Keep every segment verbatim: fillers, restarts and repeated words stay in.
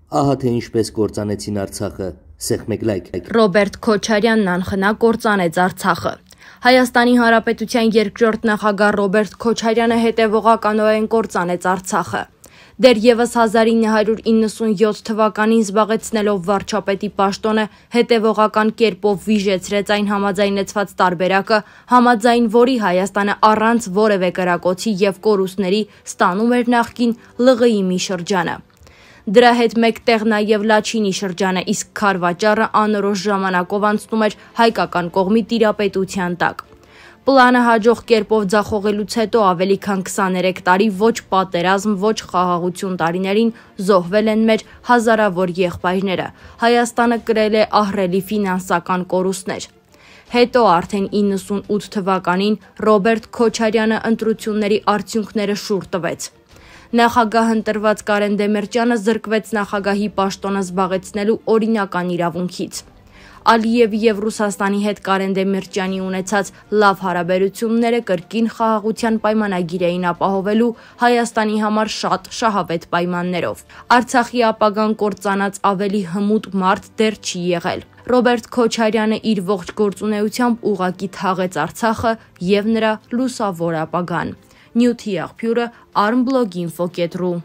Ահա թե ինչպես կործանեցին Արցախը, Սեղմեգլայք։ Ռոբերտ Քոչարյանն անխնա կործանեց Արցախը։ Հայաստանի Հանրապետության երկրորդ նախագահ Ռոբերտ Քոչարյանը հետևողականորեն կործանեց Արցախը։ Դեռևս հազար ինը հարյուր իննսունյոթ թվականին զբաղեցնելով վարչապետի պաշտոնը հետևողական կերպով վիժեցրեց այն համաձայնեցված տարբերակը, համաձայն որի Հայաստանը առանց որևէ կրակոցի եւ կորուստների ստանում էր նախկին Լ Ղ ի մի շրջանը։ Դրա հետ մեկտեղ նաև Լաչինի շրջանը, իսկ Քարվաճառը անորոշ ժամանակով անցնում էր հայկական կողմի տիրապետության տակ։ Պլանը հաջող կերպով ձախողելուց հետո ավելի քան քսաներեք տարի ոչ պատերազմ, ոչ խաղաղություն տարիներին զոհվել են մեր հազարավոր եղբայրները։ Հայաստանը կրել է ահռելի ֆինանսական կորուստներ։ Հետո արդեն իննսունութ թվականին Ռոբերտ Քոչարյանը ընտրությունների արդյունքները շուռ տվեց։ Նախագահ ընտրված Կարեն Դեմիրճյանը զրկվեց նախագահի պաշտոնը զբաղեցնելու օրինական իրավունքից։ Ալիևի եւ Ռուսաստանի հետ Կարեն Դեմիրճյանի ունեցած լավ հարաբերությունները կրկին խաղաղության պայմանագիր էին ապահովելու Հայաստանի համար շատ շահավետ պայմաններով։ Արցախի ապագան կործանած ավելի հմուտ մարդ դեռ չի եղել։ Ռոբերտ Քոչարյանը իր ողջ գործունեությամբ ուղղակի թաղեց Արցախը եւ նրա լուսավոր ապագան։ Նյութի աղբյուրը armblog.info կետ րու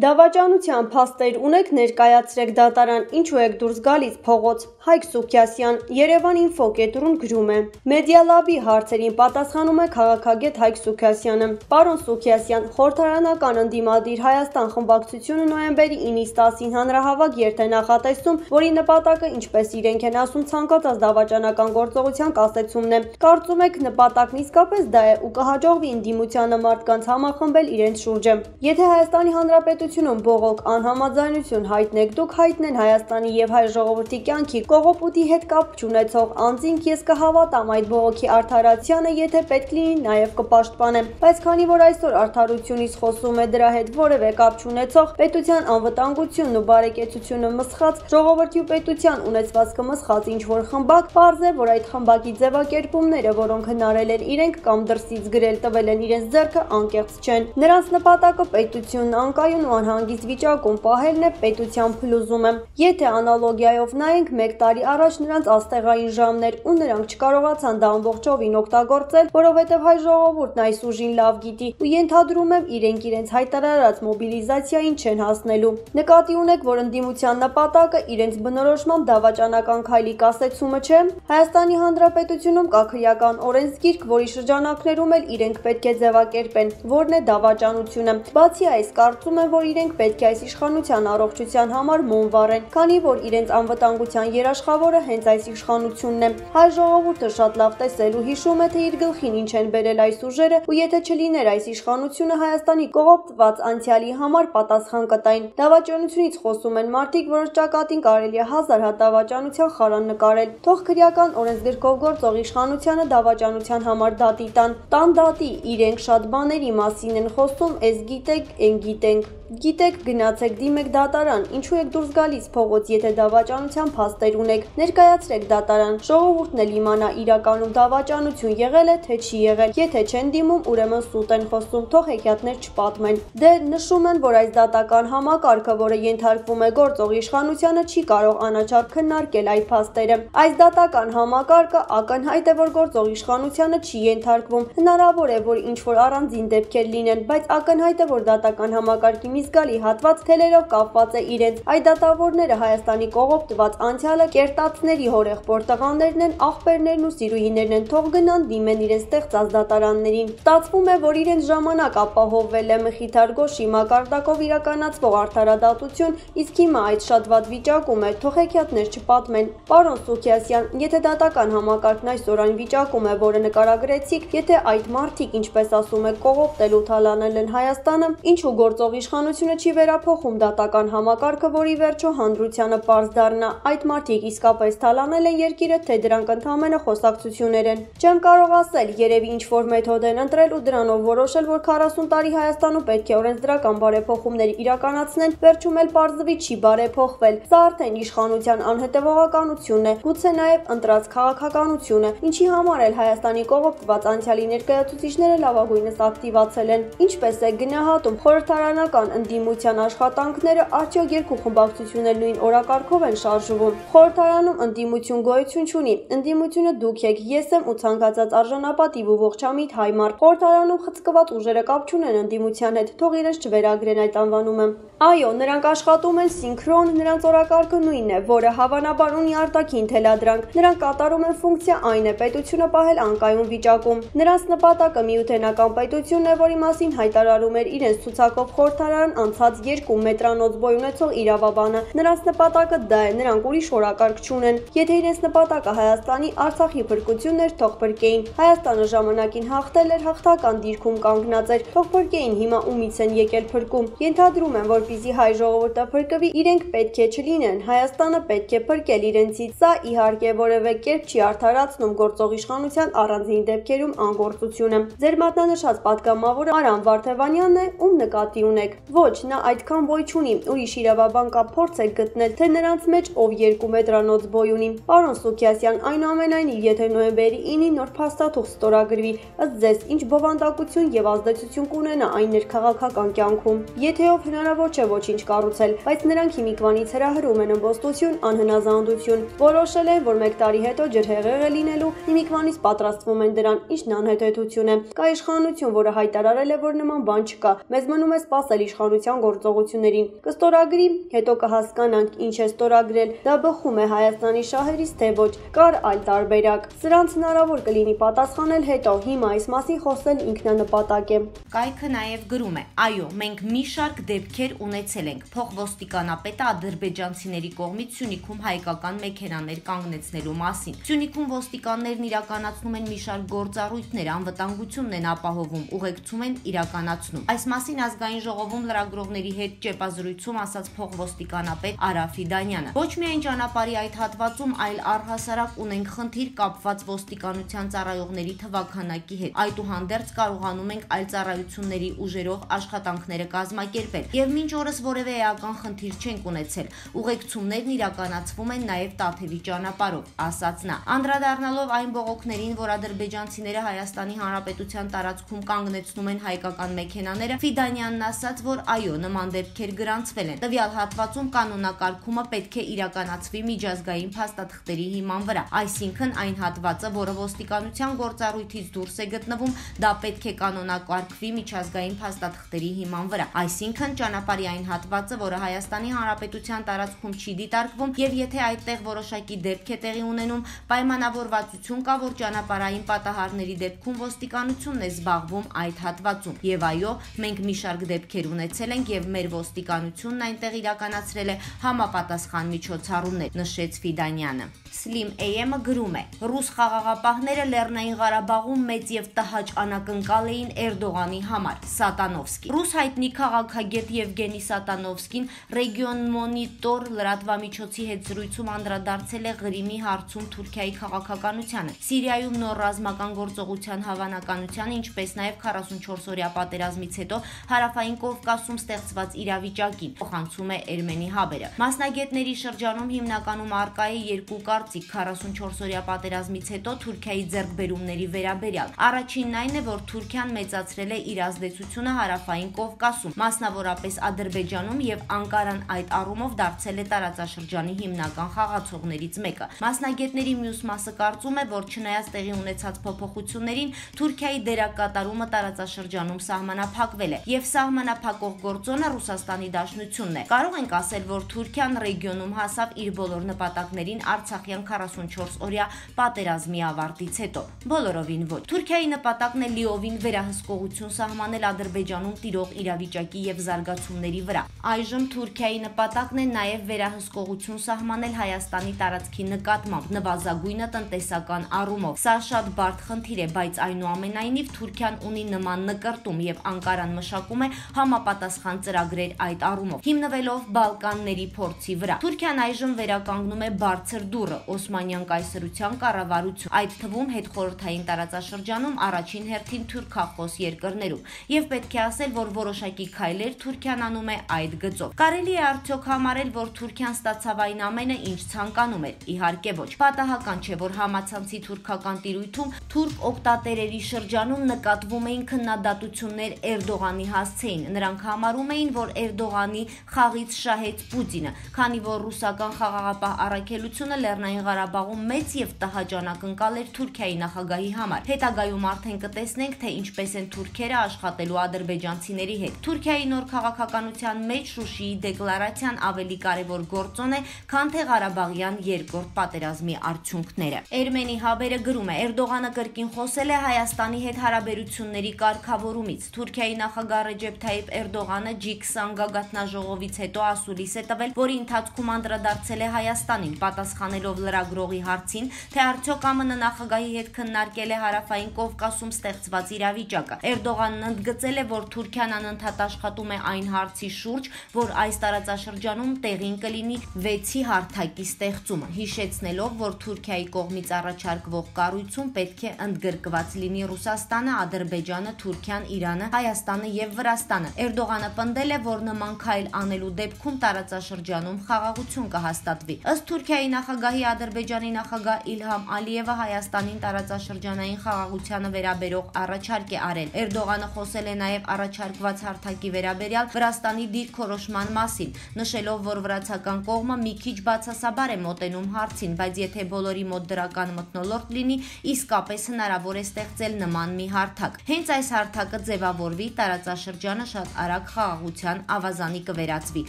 Դավաճանության փաստեր ունեք, ներկայացրեք դատարան, ինչու եք դուրս գալիս փողոց։ Հայկ Սուքյասյան, Երևան ինֆո կետ րուն գրում է։ Մեդիալաբի հարցերին պատասխանում է քաղաքագետ Հայկ Սուքյասյանը։ Պարոն Սուքյասյան, խորհրդարանական ընդդիմադիր Հայաստան խմբակցությունը նոյեմբերի ինից տասին հանրահավաք երթ է նախատեսում, որի նպատակը, ինչպես իրենք են ասում, ցանկացած դավաճանական գործողության կասեցումն է։ Կարծում եք նպատակն իսկապես դա է ու կհաջողվի ընդդիմությանը մարդկանց համախմբել իրենց շուրջը։ Եթե Հայաստանի Հանրապետությունում բողոք անհամաձայնություն հայտնեք, դուք հայտնեն Հայաստանի եւ հայ ժողովրդի կյանքի կողոպուտի հետ կապ չունեցող անձինք, ես կհավատամ այդ բողոքի արդարացիանը, եթե պետք լինի նաեւ կպաշտպանեմ, բայց քանի որ այսօր արդարությունից խոսում է դրա հետ որևէ կապ չունեցող պետության անվտանգությունն ու բարեկեցությունը մսխած ժողովրդի ու պետության ունեցվածքը մսխած ինչ որ խմբակ, պարզ է, որ այդ խմբակի ձևակերպումները, որոնք հնարել են իրենք կամ դրսից գրել տվել են իրենց ձեռքը, անկեղծ չեն։ Նրանց նպատակը պետությունն անկայուն ու անհանգիստ վիճակում պահելն է, պետության փլուզումը։ Եթե անալոգիայով նայենք մեկ տարի առաջ նրանց աստեղային ժամներ ու նրանք չկարողացան դա ամբողջովին օգտագործել, որովհետև հայ ժողովուրդն այս ուժին լավ գիտի ու ենթադրում եմ իրենք իրենց հայտարարած մոբիլիզացիային չեն հասնելու։ Նկատի ունեք, որ ընդդիմության նպատակը իրենց բնորոշմամբ դավաճանական քայլի կասեցումը չէ։ Հայաստանի Հանրապետությունում կա քրեական օրենսգիրք, որի շրջանակներում էլ իրենք պետք է ձևակերպեն, որն է դավաճանությունը։ Բացի այս, կարծում եմ, որ իրենք պետք է այս իշխանության առողջության համար մոմ վառեն, քանի որ իրենց անվտանգության երաշխավորը հենց այս իշխանությունն է։ Հայ ժողովուրդը շատ լավ տեսել ու հիշում է, թե իր գլխին ինչ են բերել այս ուժերը, ու եթե չլիներ այս իշխանությունը, Հայաստանի կողոպտված անցյալի համար պատասխան կտային։ Դավաճանությունից խոսում են մարդիկ, որոնց ճակատին կարելի է հազար հատ դավաճանության խարան նկարել։ Թող քրեական օրենսգրքով գործող իշխանությանը դավաճանության համար դատի տան։ Տան դատի, իրենք շատ բաների մասին են խոսում, էս գիտեք, են գիտենք։ Գիտեք, գնացեք դիմեք դատարան, ինչու եք դուրս գալիս փողոց, եթե դավաճանության փաստեր ունեք, ներկայացրեք դատարան, ժողովուրդն էլ իմանա իրականում դավաճանություն եղել է, թե չի եղել, եթե չեն դիմում, ուրեմն սուտ են խոսում, թող հեքիաթներ չպատմեն։ Դե նշում են, որ այս դատական համակարգը, որը ենթարկվում է գործող իշխանությանը, չի կարող անաչառ քննարկել այդ փաստերը։ Այս դատական համակարգը ակնհայտ է, որ գործող իշխանությանը չի ենթարկվում։ Հնարավոր է, որ ինչ որ առանձին դեպքեր լինեն, բայց ակնհայտ է, որ դատական համակարգի զգալի հատված թելերով կապված է իրենց։ Այդ դատավորները Հայաստանի կողոպտված անցյալը կերտածների հորեղբոր տղաներն են, աղբերներն ու սիրուհիներն են, թող գնան դիմեն իրենց ստեղծած դատարաններին։ Ստացվում է, որ իրենց ժամանակ ապահովվել է Մխիթար Գոշի մակարդակով իրականացվող արդարադատություն, իսկ հիմա այդ շատ վատ վիճակում է, թող հեքիաթներ չպատմեն։ Պարոն Սուքյասյան, եթե դատական համակարգն այսօր այն վիճակում է, որը նկարագրեցիք, եթե այդ մարդիկ, ինչպես ասում եք, կողոպտել ու թալանել են Հայաստանը, ինչու գործող իշխանությունը չի վերափոխում դատական համակարգը, որի վերջո հանրությանը պարզ դառնա այդ մարդիկ իսկապես թալանել են երկիրը, թե դրանք ընդհանրապես խոսակցություններ են։ Չեմ կարող ասել, երևի ինչ-որ մեթոդ են ընտրել ու դրանով որոշել, որ քառասուն տարի Հայաստանում պետք է օրենսդրական բարեփոխումներ իրականացնեն, վերջում էլ պարզվի չի բարեփոխվել։ Սա արդեն իշխանության անհետևողականությունն է, գուցե նաև ընտրած քաղաքականությունը, ինչի համար էլ Հայաստանի կողոպտված անցյալի ներկայացուցիչները լավագույնս ակտիվացել են։ Ինչպես է գնահատում խորհրդարանական ընդդիմության աշխատանքները արդյոք երկու խմբակցություններ նույն օրակարգով են շարժվում։ Խորհրդարանում ընդդիմություն գոյություն չունի։ Ընդդիմությունը դուք եք, ես եմ ու ցանկացած արժանապատիվ ու ողջամիտ հայ մարդ։ Խորհրդարանում խցկված ուժերը կապ չունեն ընդդիմության հետ, թող իրենց չվերագրեն այդ անվանումը։ Այո, նրանք աշխատում են սինքրոն, նրանց օրակարգը նույնն է, որը հավանաբար ունի արտաքին թելադրանք։ Նրանք կատարում են ֆունկցիա, այն է պետությունը պահել անկայուն վիճակում։ Նրանց նպատակը միութենական պետությունն է, որի մասին հայտարարում էր իրենց ցուցակով խորհրդարան անցած երկու մետրանոց բոյ ունեցող իրավաբանը։ Նրանց նպատակը դա է, նրանք ուրիշ օրակարգ չունեն։ Եթե իրենց նպատակը Հայաստանի Արցախի փրկությունն էր, թող փրկեին։ Հայաստանը ժամանակին հաղթել էր, հաղթական դիրքում կանգնած էր, թող փրկեին, հիմա ումից են եկել փրկում։ Ենթադրում են, որպեսզի հայ ժողովուրդը փրկվի, իրենք պետք է չլինեն, Հայաստանը պետք է փրկել իրենցից։ Սա իհարկե որևէ կերպ չի արդարացնում գործող իշխանության առանձին դեպքերում անգործությունը։ Ձեր մատնանշած պատգամավորը Արամ Վարդևանյանն է, ում նկատի ունեք։ Ոչ, նա այդքան բոյ չունի, ուրիշ իրավաբան կա, փորձեք գտնել, թե նրանց մեջ ով երկու մետրանոց բոյ ունի։ Պարոն Սուքիասյան, այնուամենայնիվ, եթե նոյեմբերի ինին նոր փաստաթուղթ ստորագրվի, ըստ ձեզ ինչ բովանդակություն եւ ազդեցություն կունենա այն ներքաղաքական կյանքում։ Եթե ով հնարավոր չէ ոչինչ կառուցել, բայց նրանք հիմիկվանից հրահրում են ըմբոստություն, անհնազանդություն։ Որոշել են, որ մեկ տարի հետո ջրհեղեղ է լինելու, հիմիկվանից պատրաստվում են դրան, ինչն անհետեթություն է։ Կա իշխանություն, որը հայտարարել է, որ նման բան չկա։ Մեզ մնում է սպասել իշխանության գործողություններին։ Կստորագրի, հետո կհասկանանք ինչ է ստորագրել։ Դա բխում է Հայաստանի շահերից, թե ոչ։ Կար այլ տարբերակ։ Սրանց հնարավոր կլինի պատասխանել հետո, հիմա այս մասին խոսել ինքնանպատակ է։ Կայքը նաև գրում է. այո, մենք մի շարք դեպքեր ունեցել ենք։ Փոխոստիկանապետը ադրբեջանցիների կողմից Սյունիքում հայկական մեքենաներ կանգնեցնելու մասին։ Սյունիքում ոստիկաններն իրականացնում են մի շարք գործառույթներ, անվտանգությունն են ապահովում, ուղեկցում են իրականացնում։ Այս մասին ազգային ժողովում լրագրողների հետ ճեպազրույցում ասաց փոխոստիկանապետ Արա Ֆիդանյանը։ Ոչ միայն ճանապարհի այդ հատվածում, այլ առհասարակ ունենք խնդիր կապված ոստիկանության ծառայողների թվաքանակի հետ։ Այդուհանդերձ կարողանում ենք այլ ծառայությունների ուժերով աշխատանքները կազմակերպել։ Եվ մինչ օրս որևէ էական խնդիր չենք ունեցել։ Ուղեկցումներն իրականացվում են նաև Տաթևի ճանապարհով, ասաց նա։ Անդրադառնալով այն բողոքներին, որ ադրբեջանցիները Հայաստանի Հանրապետության տարածքում կանգնեցնում են հայկական մեքենաները, Ֆիդանյանն ասաց, որ այո, նման դեպքեր գրանցվել են։ Տվյալ հատվածում կանոնակարգումը պետք է իրականացվի միջազգային փաստաթղթերի հիման վրա, այսինքն այն հատվածը, որը ոստիկանության գործառույթից դուրս է գտնվում, դա պետք է կանոնակարգվի միջազգային փաստաթղթերի հիման վրա, այսինքն ճանապարհի այն հատվածը, որը Հայաստանի Հանրապետության տարածքում չի դիտարկվում, եւ եթե այդտեղ որոշակի դեպք է տեղի ունենում, պայմանավորվածություն կա, որ ճանապարհային պատահարների դեպքում ոստիկանությունն է զբաղվում այդ հատվածում։ Եվ այո, մենք մի շարք դեպքեր ունեցել ենք եւ մեր ոստիկանությունն այնտեղ իրականացրել է համապատասխան միջոցառումներ, նշեց Ֆիդանյանը։ Slim A M-ը գրում է. ռուս խաղաղապահները Լեռնային Ղարաբաղում մեծ եւ տհաճ անակնկալ էին Էրդողանի համար։ Սատանովսկի։ Ռուս հայտնի քաղաքագետ Եվգենի Սատանովսկին Region Monitor լրատվամիջոցի հետ զրույցում անդրադարձել է Ղրիմի հարցում Թուրքիայի քաղաքականությանը, Սիրիայում նոր ռազմական գործողության հավանականությանը, ինչպես նաև քառասունչորս օրյա պատերազմից հետո հարավային Կովկասում ստեղծված իրավիճակին, փոխանցում է Ermeni Haber-ը։ Մասնագետների շրջանում հիմնականում առկա է երկու կարծիք քառասունչորս օրյա պատերազմից հետո Թուրքիայի ձեռքբերումների վերաբերյալ։ Առաջինն այն է, որ Թուրքիան մեծացրել է իր ազդեցությունը հարավային Կովկասում, մասնավորապես Ադրբեջանում, եւ Անկարան այդ առումով դարձել է տարածաշրջանի հիմնական խաղացողներից մեկը։ Մասնագետների մյուս մասը կարծում է, որ չնայած տեղի ունեցած փոփոխություններին, Թուրքիայի դերակատարումը տարածաշրջանում սահմանափակվել է, եւ սահմանափակող գործոնը Ռուսաստանի Դաշնությունն է։ Կարող ենք ասել, որ Թուրքիան ռեգիոնում հասավ իր բոլոր նպատակներին Արցախյան քառասունչորս օրյա պատերազմի ավարտից հետո։ Բոլորովին ոչ։ Թուրքիայի նպատակն է լիովին վերահսկողություն սահմանել Ադրբեջանում տիրող իրավիճակի եւ զարգացումների վրա։ Այժմ Թուրքիայի նպատակն է նաեւ վերահսկողություն սահմանել Հայաստանի տարածքի նկատմամբ նվազագույնը տնտեսական առումով։ Սա շատ բարդ խնդիր է, բայց այնուամենայնիվ Թուրքիան ունի նման նկրտում եւ Անկարան մշակում է համապատասխան ծրագրեր այդ առումով, հիմնվելով Բալկանների փորձի վրա։ Թուրքիան այժմ վերականգնում է բարձր դուռը Օսմանյան կայսրության կառավարություն, այդ թվում հետխորհրդային տարածաշրջանում առաջին հերթին թուրքախոս երկրներում, եւ պետք է ասել, որ որոշակի քայլեր Թուրքիան անում է այդ գծով։ Կարելի է արդյոք համարել, որ Թուրքիան ստացավ այն ամենը, ինչ ցանկանում էր։ Իհարկե ոչ։ Պատահական չէ, որ համացանցի թուրքական տիրույթում թուրք օկտատերերի շրջանում նկատվում էին քննադատություններ Էրդողանի հասցեին։ Նրանք նրանք համարում էին, որ Էրդողանի խաղից շահեց Պուտինը, քանի որ ռուսական խաղաղապահ առաքելությունը Լեռնային Ղարաբաղում մեծ եւ տհաճ անակնկալ էր Թուրքիայի նախագահի համար։ Հետագայում արդեն կտեսնենք, թե ինչպես են թուրքերը աշխատելու ադրբեջանցիների հետ։ Թուրքիայի նոր քաղաքականության մեջ Շուշիի դեկլարացիան ավելի կարևոր գործոն է, քան թե Ղարաբաղյան երկրորդ պատերազմի արդյունքները։ Էրմենի Հաբերը գրում է. Էրդողանը կրկին խոսել է Հայաստանի հետ հարաբերությունների կարգավորումից։ Թուրքիայի նախագահ Ռեջեփ Թայիփ Էրդողանը ջի քսան գագաթնաժողովից հետո ասուլիս է տվել, որի ընթացքում անդրադարձել է Հայաստանին, պատասխանելով լրագրողի հարցին, թե արդյոք ԱՄՆ նախագահի հետ քննարկել է Հարավային Կովկասում ստեղծված իրավիճակը։ Էրդողանն ընդգծել է, որ Թուրքիան անընդհատ աշխատում է այն հարցի շուրջ, որ այս տարածաշրջանում տեղին կլինի վեցի հարթակի ստեղծումը, հիշեցնելով, որ Թուրքիայի կողմից առաջարկվող կառույցում պետք է ընդգրկված լինի Ռուսաստանը, Ադրբեջանը, Թուրքիան, Իրանը, Հայաստանը եւ Վրաստանը։ Էրդողանը պնդել է, որ նման քայլ անելու դեպքում տարածաշրջանում խաղաղություն կհաստատվի։ Ըստ Թուրքիայի նախագահի, Ադրբեջանի նախագահ Իլհամ Ալիևը Հայաստանին տարածաշրջանային խաղաղությանը վերաբերող առաջարկ է արել։ Էրդողանը խոսել է նաև առաջարկված հարթակի վերաբերյալ Վրաստանի դիրքորոշման մասին, նշելով, որ վրացական կողմը մի քիչ բացասաբար է մոտենում հարցին, բայց եթե բոլորի մոտ դրական մթնոլորտ լինի, իսկապես հնարավոր է ստեղծել նման մի հարթակ։ Հենց այս հարթակը ձևավորվի, տարածաշրջանը շատ արագ խաղաղության ավազանի կվերածվի,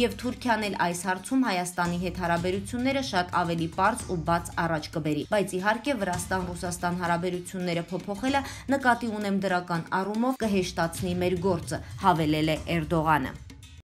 եւ Թուրքիան էլ այս հարցում Հայաստանի հետ հարաբերությունները շատ ավելի պարզ ու բաց առաջ կբերի։ Բայց իհարկե Վրաստան-Ռուսաստան հարաբերությունները փոփոխելը, նկատի ունեմ դրական առումով, կհեշտացնի մեր գործը, հավելել է Էրդողանը։